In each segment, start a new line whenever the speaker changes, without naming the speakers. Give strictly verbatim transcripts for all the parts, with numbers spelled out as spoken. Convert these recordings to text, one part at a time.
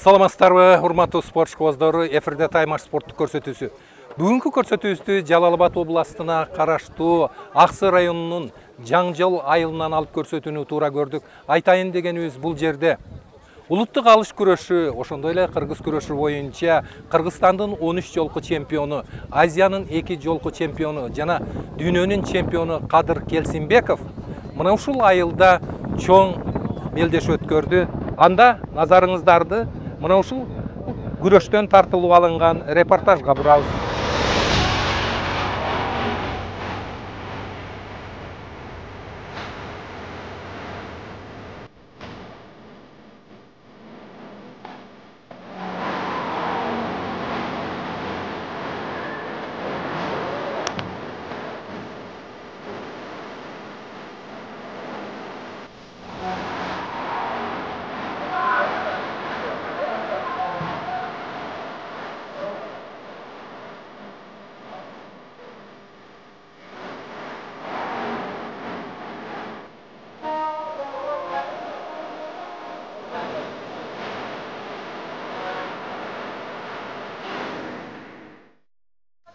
Саламатсыздарбы, урматтуу спорт шкоздору, эфирде Таймаш спорттук көрсөтүүсү. Бүгүнкү көрсөтүүбүздү Жалал Абад областына караштуу Аксы районунун Жаңжол айылынан алып көрсөтүүнү туура көрдүк. Айтайын дегенибиз, бул жерде улуттук алыш күрөшү, ошондой эле кыргыз күрөшү боюнча Кыргызстандын он үч жолку чемпиону, Азиянын эки жолку чемпиону жана дүйнөнүн чемпиону Кадыр Келсинбеков мына ушул айылда чоң мелдеш өткөрдү. Анда назарыңыздарды мына ушул күрөштөн тартылып алынган репортажга бурабыз.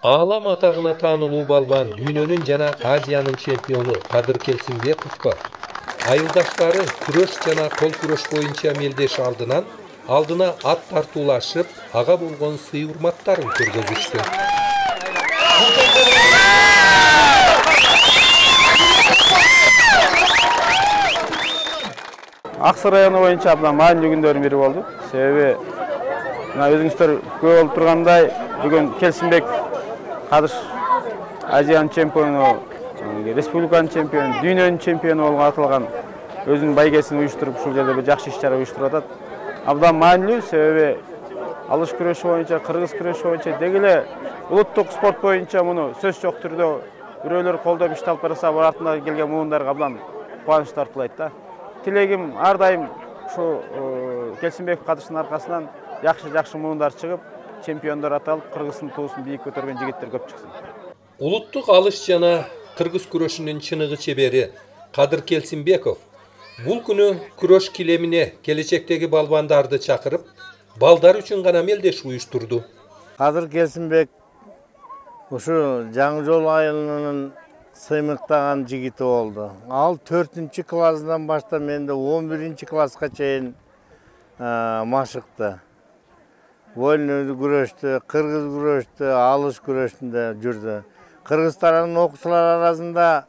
Алам атагына таанылуу балбан, дүйнөнүн жана Азиянын чемпиону Кадыр Келсинбековго айылдаштары күрөш жана кол күрөш боюнча мелдеш алдынан алдына ат тартуулашып, ага болгон сый урматтарын көргөзүштү.
Аксы району боюнча абдан маанилүү күндөрдүн бири болду. Себеби мына өзүңүздөр көп болуп тургандай, бүгүн Келсинбеков Кадыр Азиянын чемпиону, республиканын чемпиону, дүйнөнүн чемпиону болгон аталган өзүнүн байгесин уюштуруп, ушул жерде бир жакшы иш-чара уюштуруп атат. Абдан маанилүү, себеби алыш күрөшү боюнча, кыргыз күрөшү боюнча, деги эле улуттук спорт боюнча муну сөз жок түрдө бирөөлөр колдоп ишти алып барса, бул артынан келген муундарга абдан кубаныч тартуулайт да. Тилегим ар дайым ушу Келсинбеков Кадырдын аркасынан жакшы-жакшы муундар чыгып, чемпиондор аталып, Кыргыздын туусун бийик көтөргөн жигиттер көп чыксын.
Улуттук алыш жана кыргыз күрөшүнүн чыныгы чебери Кадыр Келсинбеков бул күнү күрөш килемине келечектеги балбандарды чакырып, балдар үчүн гана мелдеш уюштурду.
Кадыр Келсинбек ушу Жаңжол айылынын сыймыктаган жигити болду. Ал төртүнчү классынан баштап менде он биринчи класска чейин машыкты. Вольный күрөштү, кыргыз күрөштү, алыш күрөшүндө жүрдү. Кыргызстандын окуучулар арасында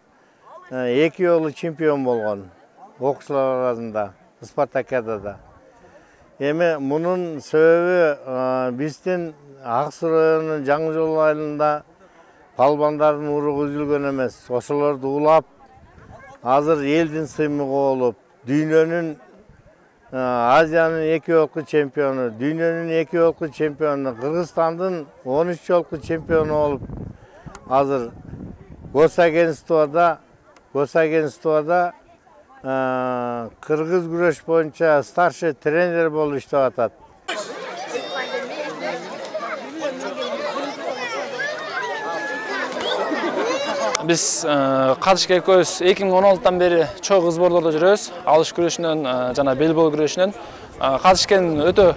эки жолу чемпион болгон. Окуучулар арасында спартакиадада. Эми мунун себеби биздин Аксы районунун Жаңжол айылында балбандардын уругу үзүлгөн эмес. Ошолорду улап, азыр элдин сыймыгы болуп, дүйнөнүн Азиянын эки жолку чемпиону, дүйнөнүн эки жолку чемпиону, Кыргызстандын он үч жолку чемпиону болуп, азыр госагентствода, госагентствода кыргыз күрөш боюнча старший тренер болуп иштеп атат.
Биз Кадышка экөөбүз эки миң он алтыдан бери чогуу сборлордо жүрөбүз. Алыш күрөшүнөн жана белбол күрөшүнөн. Кадышкенин өтө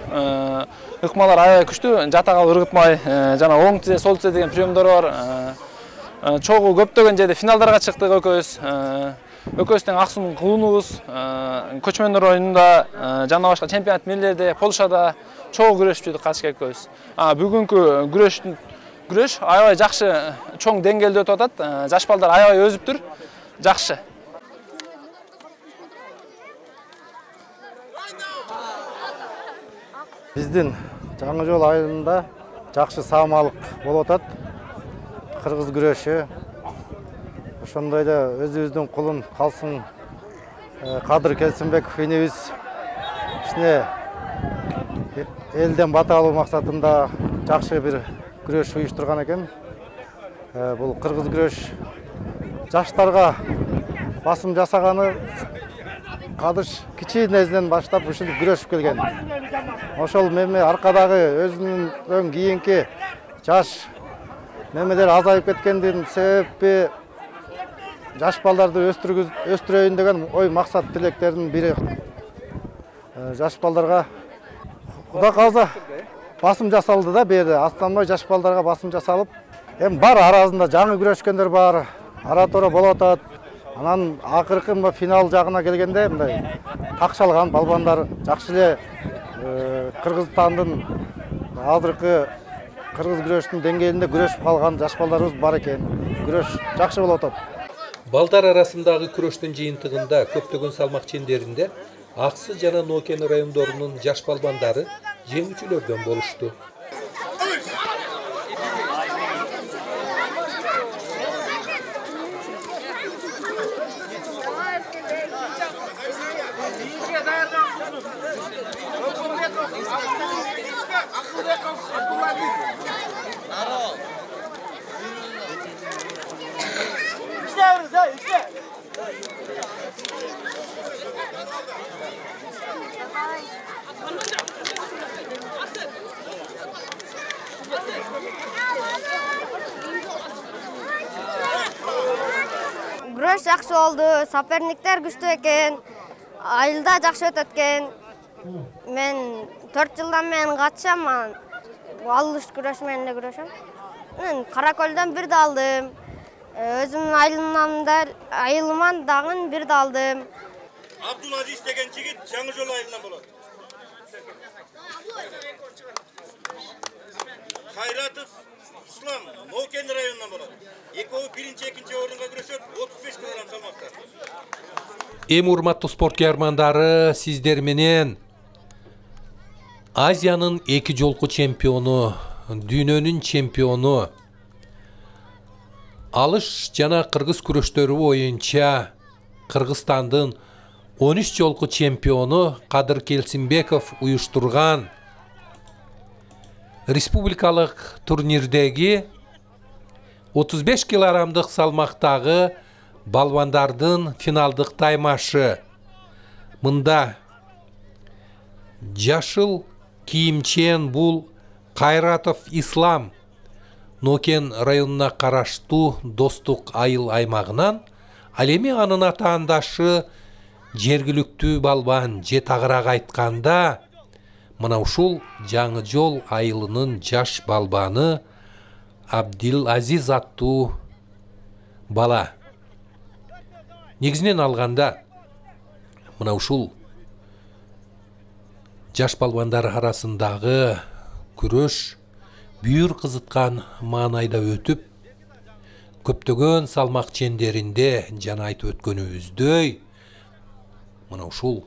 ыкмалар аябай күчтүү, жатага ыргытмай, жана оң тизе, сол тизе деген приемдору бар. Чогуу көптөгөн жерде финалдарга чыктык экөөбүз. Экөөбүз тең Аксунун кулунубуз. Көчмөндөр оюнунда жана башка чемпионат мирлерде, Полшада чогуу күрөшүп жүрдүк Кадышка экөөбүз. Бүгүнкү күрөштүн Күрөш аябай жакшы, чоң деңгээлде өтүп атат. Жаш балдар аябай өзүптүр. Жакшы.
Биздин Жаңжол айылында жакшы саамалык болуп атат. Кыргыз күрөшү. Ошондой эле өзүбүздүн кулун калсын Кадыр Келсинбеков инибиз ишине элден бата алуу максатында жакшы бир күрөш уюштурган экен. Бул кыргыз күрөш жаштарга басым жасаганы Кадыш кичинесинен баштап ушинтип күрөшүп келген. Ошол меме аркадагы өзүнүн кийинки жаш немелер азайып кеткендин себеби жаш балдарды өстүрөйүн деген ой максат тилектердин бири. Жаш балдарга
Кудай кааласа басым жасалды да, бери аттанбай жаш балдарга басым жасалып, эми бар арасында жаңы күрөшкөндөр бар, ара тора болуп атат. Анан акыркы финал жагына келгенде мындай такшалган балбандар жакшы эле Кыргызстандын азыркы кыргыз күрөшүнүн деңгээлинде күрөшүп калган жаш балдарыбыз бар экен. Күрөш жакшы болуп атат.
Балдар арасындагы күрөштүн жыйынтыгында көптөгөн салмак чендеринде Аксы жана Нокен райондорунун жаш балбандары жеңүүчүлөрдөн болушту.
Күрөш жакшы болду, соперниктер күчтүү экен, айылда жакшы өтөт экен. Мен төрт жылдан мен катышам, алыш күрөш менен эле күрөшөм. Мен Каракөлдөн бир да алдым. Өзүмдүн айылымдан айылыман дагы бир да алдым.
Абдулазиз деген жигит Жаңы Жол айылынан болот. Кайратов Ислам Нокен районунан болот. Экөө биринчи, экинчи орунга күрөшөт, отуз беш килограмм салмакта.
Эми урматтуу спорт каармандары, сиздер менен Азиянын эки жолку чемпиону, дүйнөнүн чемпиону, алыш жана кыргыз күрөштөрү боюнча Кыргызстандын он үч жолку чемпиону Кадыр Келсинбеков уюштурган республикалык турнирдеги отуз беш килограммдык салмактагы балбандардын финалдык таймашы. Мында жашыл кийимчен бул Кайратов Ислам Нокен районуна караштуу Достук айыл аймагынан, ал эми анын атаандашы жергиликтүү балбан же тагыраак айтканда мына ушул Жаңы Жол айылынын жаш балбаны Абдил Азиз аттуу бала. Негизинен алганда мына ушул жаш балбандар арасындагы күрөш бүйүр кызыткан маанайда өтүп, көптөгөн салмак чендеринде жана айтып өткөнүбүздөй мына ушул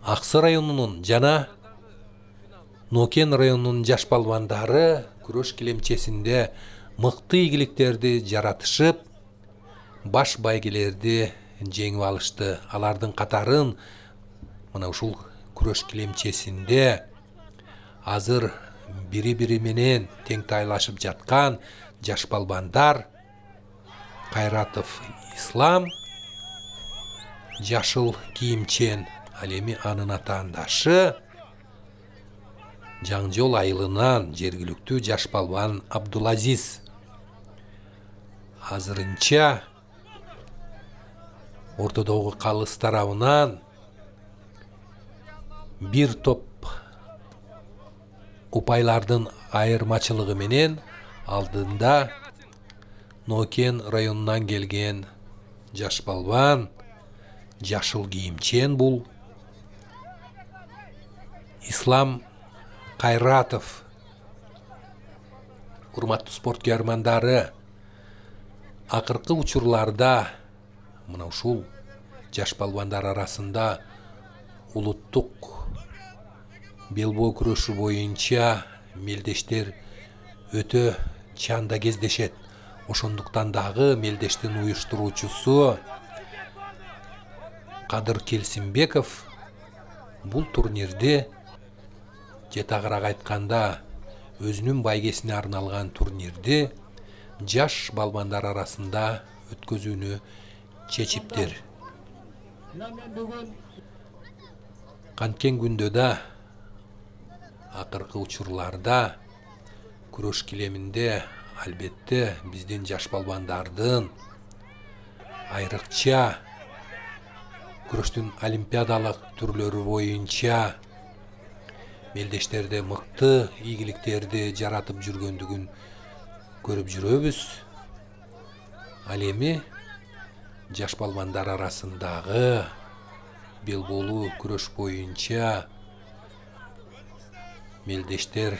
Аксы районунун жана Нокен районунун жаш балбандары күрөш килемчесинде мыкты ийгиликтерди жаратышып, баш байгелерди жеңип алышты. Алардын катарын мына ушул күрөш килемчесинде азыр бири-бири менен теңтайлашып жаткан жаш балбандар Кайратов Ислам, жашыл кийимчен, ал эми анын атаандашы Жаңы Жол айылынан жергиликтүү жаш балбан Абдулазиз. Азырынча ортодогу калыс тарабынан бир топ упайлардын айырмачылыгы менен алдында Нокен районунан келген жаш балбан жашыл кийимчен бул Ислам Кайратов. Урматтуу спорт каармандары, акыркы учурларда мына ушул жаш балбандар арасында улуттук белбоо күрөшү боюнча мелдештер өтө чанда кездешет. Ошондуктан дагы мелдештин уюштуруучусу Кадыр Келсинбеков бул турнирди же тагыраак айтканда өзүнүн байгесине арналган турнирди жаш балбандар арасында өткөзүүнү чечиптир. Канткен күндө да акыркы учурларда күрөш килеминде албетте биздин жаш балбандардын айрыкча күрөштүн олимпиадалык түрлөрү боюнча мелдештерде мыкты ийгиликтерди жаратып жүргөндүгүн көрүп жүрөбүз. Ал эми жаш балбандар арасындагы белбоолуу күрөш боюнча мелдештер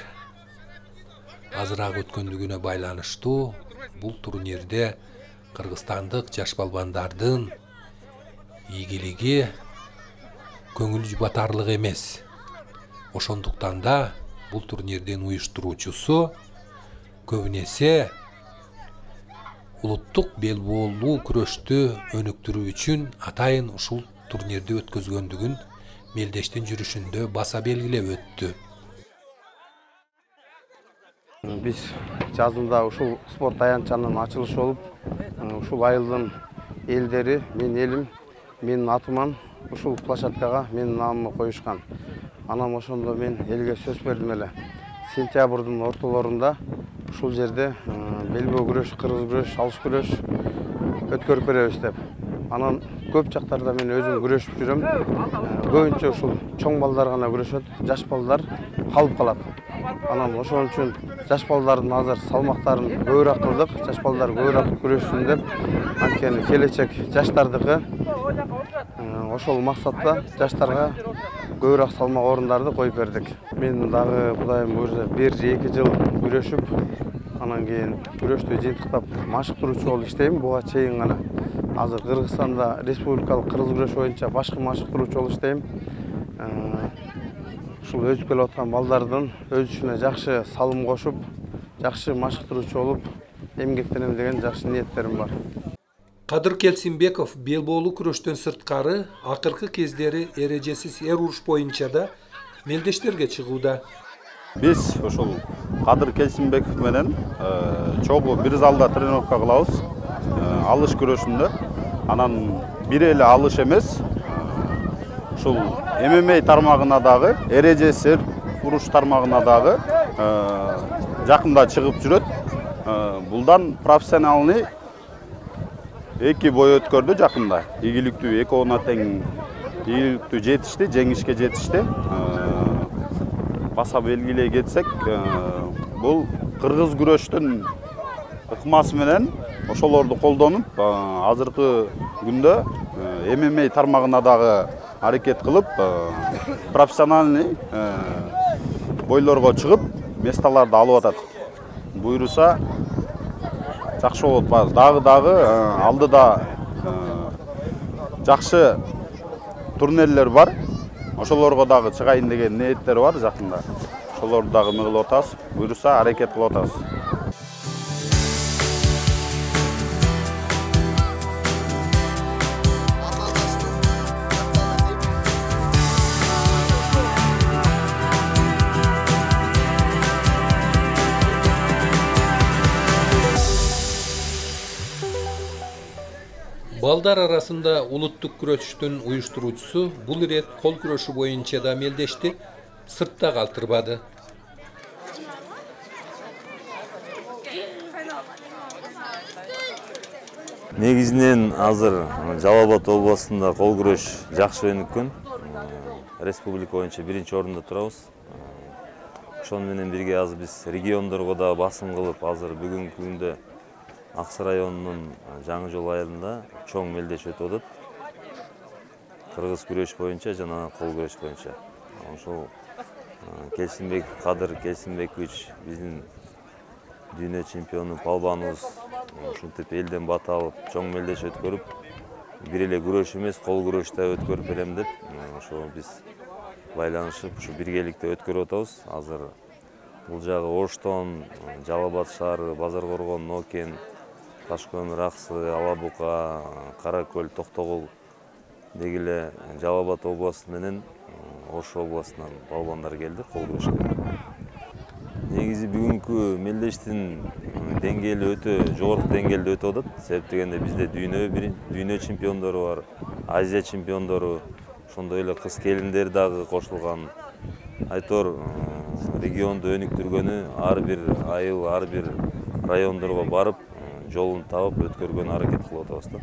азыраак өткөндүгүнө байланыштуу бул турнирде кыргызстандык жаш балбандардын ийгилиги көңүл жубатарлык эмес. Ошондуктан да бул турнирдин уюштуруучусу көбүнесе улуттук белбоолуу күрөштү өнүктүрүү үчүн атайын ушул турнирди өткөзгөндүгүн мелдештин жүрүшүндө баса белгилеп өттү.
Биз жазында ушул спорт аянтчанын ачылышы болуп, ушул айылдын элдери, менин элим, менин атыман ушул площадкага менин наамымы коюшкан. Анан ошондо мен элге сөз бердим эле. Сентябрдын ортолорунда ушул жерде белбоо күрөш, кыргыз күрөш, алыш күрөш өткөрүп беребиз деп. Анан көп жактарда мен өзүм күрөшүп жүрөм. Көбүнчө ушул чоң балдар гана күрөшөт, жаш балдар калып калат. Анан ошон үчүн жаш балдардын азыр салмактарын көбүрөөк кылдык, жаш балдар көбүрөөк күрөшсүн деп, анткени келечек жаштардыкы. Ошол максатта жаштарга көбүрөөк салмак орундарды коюп бердик. Мен дагы Кудайым буйрса бир же эки жыл күрөшүп, анан кийин күрөштү жыйынтыктап машыктыруучу болуп иштейм. Буга чейин гана азыр Кыргызстанда республикалык кыргыз күрөшү боюнча башкы машыктыруучу болуп иштейм. Ушул өсүп келе аткан балдардын өзүнө жакшы салым кошуп, жакшы машыктыруучу болуп эмгектенем деген жакшы ниеттерим бар.
Кадыр Келсинбеков белбоолуу күрөштөн сырткары акыркы кездери эрежесиз эр уруш боюнча да мелдештерге чыгууда.
Биз ушул Кадыр Келсинбеков менен чогуу бир залда тренировка кылабыз. Алыш күрөшүндө. Анан бир эле алыш эмес, ушул эм эм а тармагына дагы, эрежесиз эр уруш тармагына дагы жакында чыгып жүрөт. Булдан профессионалный эки бой өткөрдү жакында. Ийгиликтүү экөөүнө тең ийгиликтүү жетишти, жеңишке жетишти. Баса белгилей кетсек, бул кыргыз күрөштүн ыкмасы менен ошолорду колдонуп, азыркы күндө эм эм а тармагына дагы аракет кылып, профессиональный бойлорго чыгып, месталарды алып атат. Буйруса жакшы болот. Дагы-дагы алдыда жакшы турнирлер бар. Ошолорго дагы чыгайын деген ниеттер бар жакында. Ошолорду дагы мыгылып атабыз. Буйруса аракет кылып атабыз.
Балдар арасында улуттук күрөштүн уюштуруучусу бул ирет кол күрөшү боюнча да мелдешти сыртта калтырбады.
Негизинен азыр Жалал Абад областында кол күрөш жакшы өнүккөн. Республика боюнча биринчи орунда турабыз. Ошону менен бирге азыр биз региондорго да басым кылып, азыр бүгүнкү күндө Аксы районунун Жаңы Жол айылында чоң мелдеш өтүп атат. Кыргыз күрөш боюнча жана кол күрөш боюнча. Ошол Келсинбек Кадыр Келсинбекович биздин дүйнө чемпиону палбаныбыз. Ушинтип элден бата алып, чоң мелдеш өткөрүп, бир эле күрөш эмес, кол күрөш да өткөрүп берем деп, ошо биз байланышып, ушу биргеликте өткөрүп атабыз. Азыр бул жагы Оштон, Жалал Абад шаары, Базар Коргон, Нокен, Ташкөмүр, Аксы, Алабука, Каракөл, Токтогул деги эле Жалал Абад областы менен Ош областынан балбандар келди кол күрөшкө. Негизи бүгүнкү мелдештин деңгээли өтө жогорку деңгээлде өтүп атат. Себеп дегенде бизде дүйнө дүйнө чемпиондору бар, Азия чемпиондору, ошондой эле кыз келиндер дагы кошулган. Айтор регионду өнүктүргөнү ар бир айыл, ар бир райондорго барып, жолун таап өткөргөнү аракет кылып атабыз да.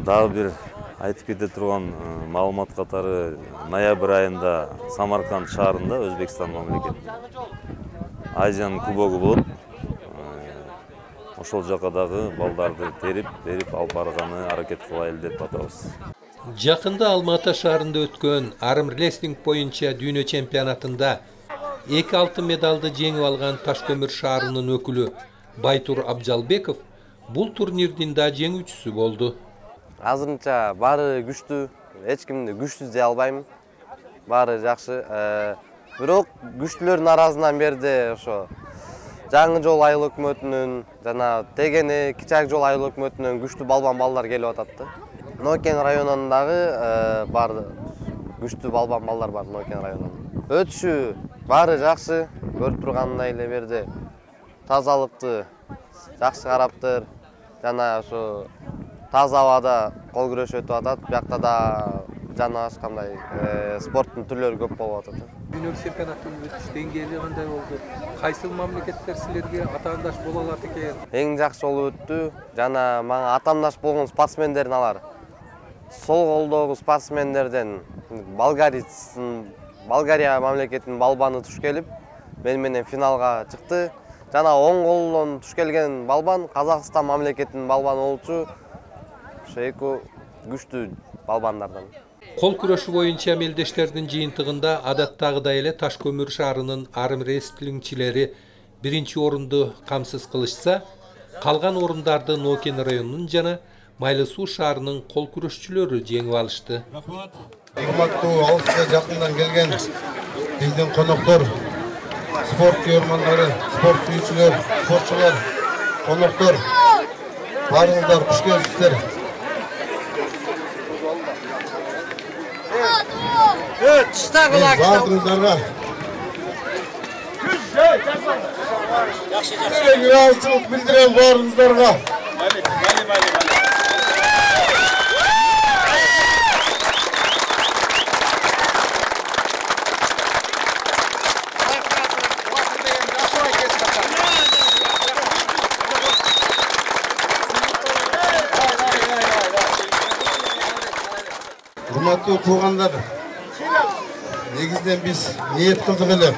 Дагы бир айтып кете турган маалымат катары ноябрь айында Самарканд шаарында Өзбекстан мамлекетинин Азиянын кубогу болот. Ошол жака дагы балдарды терип, берип алып барганы аракет кылайлы деп атабыз.
Жакында Алматы шаарында өткөн армрестлинг боюнча дүйнө чемпионатында эки алтын медалды жеңип алган Ташкөмүр шаарынын өкүлү Байтур Абжалбеков бул турнирдин да жеңүүчүсү болду.
Азырынча баары күчтүү, эч кимди күчсүз дей албайм. Баары жакшы. Бирок күчтүүлөрдүн арасынан берде ошо Жаңы жол айыл өкмөтүнүн жана Тегени Кичак жол айыл өкмөтүнүн күчтүү балбан балдар келип атат. Нокен районундагы бар күчтүү балбан балдар бар Нокен районунда. Өтүшү баары жакшы, көрүп тургандай эле берде тазалыкты жакшы караптыр. Жана ошо таза абада кол күрөш өтүп атат. Биякта да жана ашкандай спорттун түрлөрү көп болуп атат.
Дүйнө чемпионаттын өтүш деңгээли кандай болду? Кайсыл мамлекеттер силерге атаандаш боло алат экен?
Эң жакшы болуп өттү. Жана мага атаандаш болгон спортсмендердин алар сол колдогу спортсмендерден Болгария мамлекетинин балбаны туш келип, мен менен финалга чыкты. Жана оң колдон туш келген балбан Казакстан мамлекетинин балбаны болчу. Ошо эки күчтүү балбандардан.
Кол күрөшү боюнча мелдештердин жыйынтыгында адаттагыдай эле Ташкөмүр шаарынын армрестлингчилери биринчи орунду камсыз кылышса, калган орундарды Нокен районунун жана Майлы Суу шаарынын кол күрөшчүлөрү жеңип алышты.
Урматтуу алыска жакындан келген биздин коноктор, спорт көрөрмандары, спорт сүйүүчүлөр, спортчулар, коноктор, баарыңыздар куш келипсиздер. Бардыңыздарга ыраазычылык билдирем баарыңыздарга. Урматтуу туугандар, негизден биз ниет кылдык эле.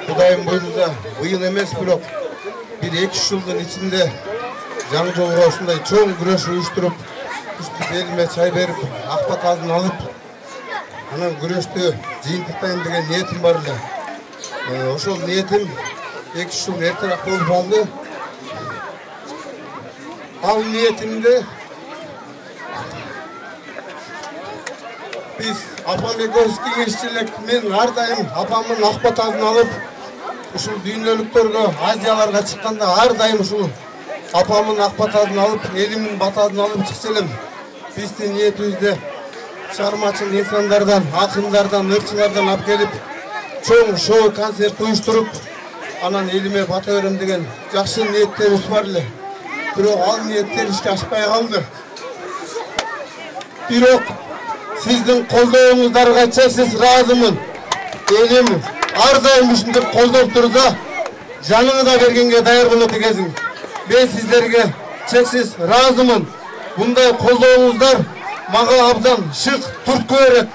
Кудайым буйрса, быйыл эмес, бирок бир эки үч жылдын ичинде жаңы жолго ушундай чоң күрөш уюштуруп, белиме чай берип, ак батасын алып, анан күрөштү жыйынтыктайм деген ниетим бар эле. Ошол ниетим эки үч жыл эртерээк болуп калды. Ал ниетимде биз апам экөөбүз кеңешчи элек, мен ар дайым апамдын ак батасын алып, ушул дүйнөлүктөргө, Азияларга чыкканда ар дайым ушул апамдын ак батасын алып, элимдин батасын алып чыкчу элем. Биздин ниетибизде чыгармачыл инсандардан, акындардан, ырчылардан алып келип, чоң шоу концерт уюштуруп, анан элиме бата берем деген жакшы ниеттерибиз бар эле. Бирок ал ниеттер ишке ашпай калды. Бирок сиздин колдооңуздарга чексиз ыраазымын. Элим ар дайым ушинтип колдоп турса, жаныңы да бергенге даяр болот экенсиң. Мен сиздерге чексиз ыраазымын. Мындай колдооңуздар мага абдан шык туртку берет.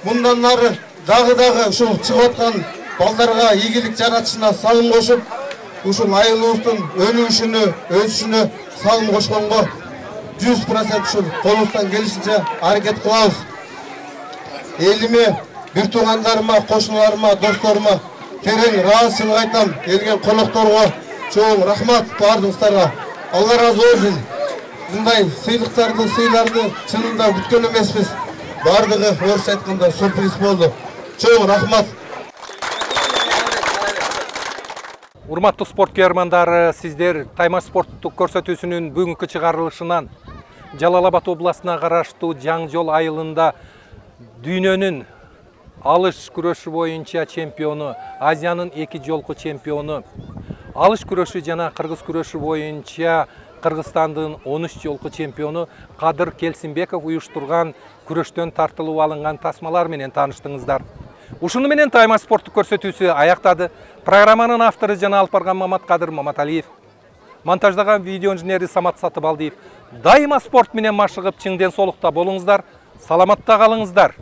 Мындан ары дагы-дагы ушул чыгып аткан балдарга ийгилик жаратышына салым кошуп, ушул айылыбыздын өнүгүшүнө, өсүшүнө салым кошконго жүз процент ушул колубуздан келишинче аракет кылабыз. Элиме, бир туугандарыма, кошуналарыма, досторума терең ыраазычылык айтам. Келген конокторго чоң рахмат баарыңыздарга. Алла разы болсун. Мындай сыйлыктарды, сыйларды чынында күткөн эмеспиз. Бардыгы орусча айтканда сюрприз болду. Чоң рахмат.
Урматтуу спорт күйөрмандары, сиздер Таймаш спорттук көрсөтүүсүнүн бүгүнкү чыгарылышынан Жалал Абад областына караштуу Жаңы жол айылында дүйнөнүн алыш күрөшү боюнча чемпиону, Азиянын эки жолку чемпиону, алыш күрөшү жана кыргыз күрөшү боюнча Кыргызстандын он үч жолку чемпиону Кадыр Келсинбеков уюштурган күрөштөн тартылып алынган тасмалар менен тааныштыңыздар. Ушуну менен Таймаш спорттук көрсөтүүсү аяктады. Программанын автору жана алып барган Мамат Кадыр Маматалиев. монтаждаган видео инженери Самат Сатыбалдиев. Дайыма спорт менен машыгып чың ден соолукта болуңуздар, саламатта калыңыздар.